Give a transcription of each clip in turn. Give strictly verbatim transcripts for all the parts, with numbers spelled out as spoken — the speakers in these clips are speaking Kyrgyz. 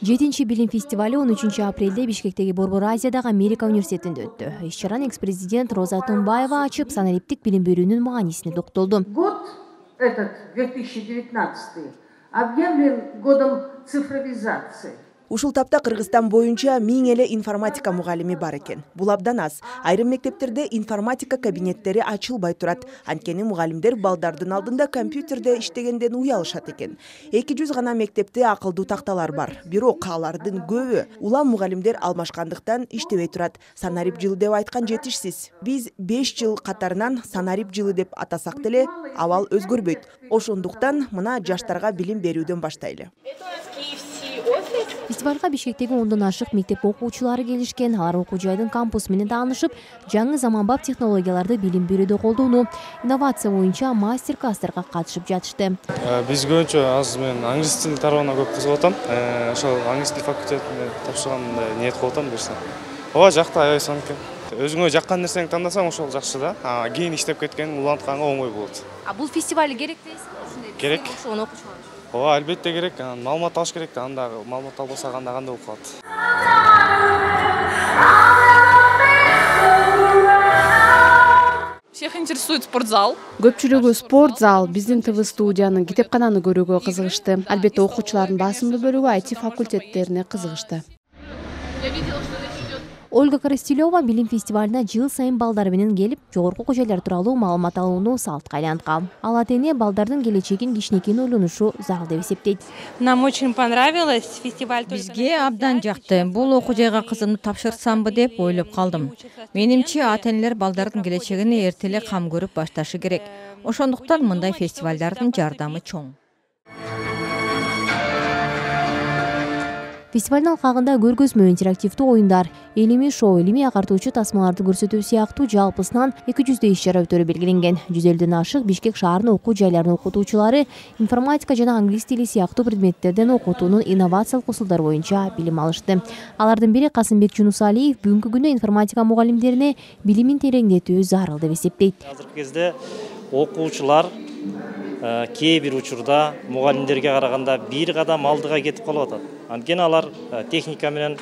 жетинчи билим фестивали он үчүнчү апрелде Бишкектеги Борбор Азиядагы Америка университетинде өттү. Иш-чараны экс-президент Роза Атунбаева ачып, санариптик билим берүүнүн маанисине токтолду. Год этот две тысячи девятнадцатый объявлен годом цифровизации. Ушул тапта Кыргызстан боюнча миң эле информатика мугалими бар экен. Бул абдан аз. Айрым мектептерде информатика кабинеттери ачылбай турат. Анткени мугалимдер балдардын алдында компьютерде иштегенден уялышат экен. эки жүз гана мектепте акылдуу такталар бар. Бирок алардын көбү улам мугалимдер алмашкандыктан иштебей турат. Санарип жылы деп айткан жетишсиз. Биз беш жыл катарынан санарип жылы деп атасак деле абал өзгөрбөйт. Ошондуктан мына жаштарга билим берүүдөн баштайлы. Фестивалга Бишкектеги ондон ашык мектеп окуучулары келишкен. Алар окуу жайдын кампусу менен таанышып, жаңы заманбап технологияларды билим берүүдө колдонуу, инновация боюнча мастер-класстарга катышып жатышты. Биз көбүнчө аз мен англис тил тарабына көп кызыгып атам. Ошол англис тил факультетине тапшырганда ниет кылып атам берсем. Ооба жакты аябай сонун экен. Өзүңө жаккан нерсени тандасаң ошол жакшы да. Кийин иштеп кеткен улантканга оңой болот. А бул фестиваль керек дейсизби? Керек. Ооба, албетте керек. Маалымат алыш керек да. Анда маалымат албаса анда кандай болуп калат. Всех интересует спортзал. Көпчүлүгү спортзал, биздин ТВ студияны, китепкананы көрүүгө кызыгышты. Албетте окуучулардын басымдуу бөлүгү ай ти факультеттерине кызыгышты. Ольга Коростелева билим фестивалына жыл сайын балдар менен келип, жогорку окуу жайлар тууралуу маалымат алууну салтка айланткан. Ал атене балдардын келечегин кичинекейин ойлонушу зарыл деп эсептейт. Нам очень понравилось фестиваль. Бизге абдан жакты. Бул окуу жайга кызымды тапшырсамбы деп ойлоп калдым. Менимче ата-энелер балдардын келечегине эрте эле кам көрүп башташы керек. Ошондуктан мындай фестивалдардын жардамы чоң. Фестивалдын алкагында көргөзмө, интерактивдүү оюндар, илимий шоу, илимий агартуучу тасмаларды көрсөтүү сыяктуу жалпысынан эки жүздөй иш-чара өтөрү белгиленген. жүз элүүдөн ашык Бишкек шаарынын окуу жайларынын окутуучулары информатика жана англис тили сыяктуу предметтерден окутуунун инновациялык усулдары боюнча билим алышты. Алардын бири Касымбек Жунусалиев бүгүнкү күндө информатика мугалимдерине билимин тереңдетүү зарыл деп эсептейт. Азыркы кезде окуучулар кээ бир учурда мугалимдерге караганда бир кадам алдыга кетип калып атат. Анткени алар техника менен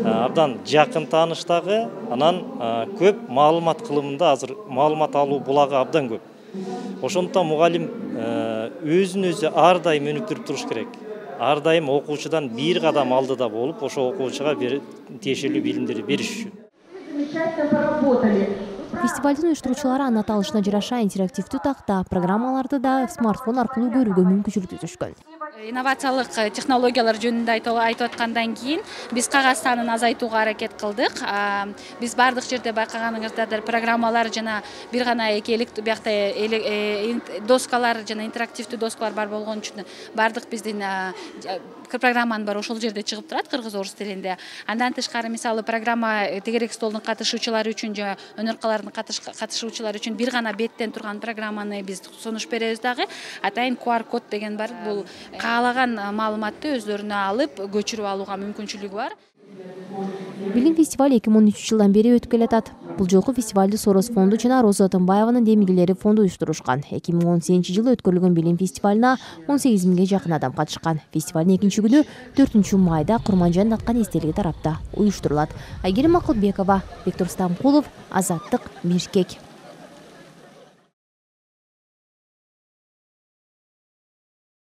абдан жакын тааныштагы, анан көп маалымат кылымында азыр маалымат алуу булагы абдан көп. Ошондуктан мугалим өзүн өзү ар дайым өнүктүрүп туруш керек. Ар дайым окуучудан бир кадам алдыда болуп, ошо окуучуга тиешелүү билимдерди бериш үчүн. Фестивалдын уюштуруучулары анын аталышына жараша интерактивдүү такта, программаларды да смартфон аркылуу көрүүгө мүмкүнчүлүк түшкөн. Инновациялык технологиялар жөнүндө айтып аткандан кийин биз кагаз санын азайтууга аракет кылдык. Биз бардык жерде байкаганыңыздарда программалар жана бир гана эки биякта доскалар жана интерактивдүү доскалар бар болгон үчүн бардык биздин программанын баары ошол жерде чыгып турат кыргыз орус тилинде. Андан тышкары мисалы программа тегерек столдун катышуучулары үчүн жана өнөркалардын катышуучулары үчүн бир гана беттен турган программаны биз сунуш беребиз дагы. Атайын ку ар код деген бар. Бул каалаган маалыматты өздөрүнө алып көчүрүп алууга мүмкүнчүлүгү бар. Билим фестивали эки миң он үчүнчү жылдан бери өтүп келатат. Бул жолку фестивалды Сорос фонду жана Роза Атунбаеванын демилгелери фонду уюштурушкан. эки миң он сегизинчи жылы өткөрүлгөн билим фестивалына он сегиз миңге жакын адам катышкан. Фестивалдын экинчи күнү төртүнчү майда Курманжандын аткан эстелиги тарапта уюштурулат. Айгерим Акылбекова, Бектур Стамкулов, Азаттык, Бишкек.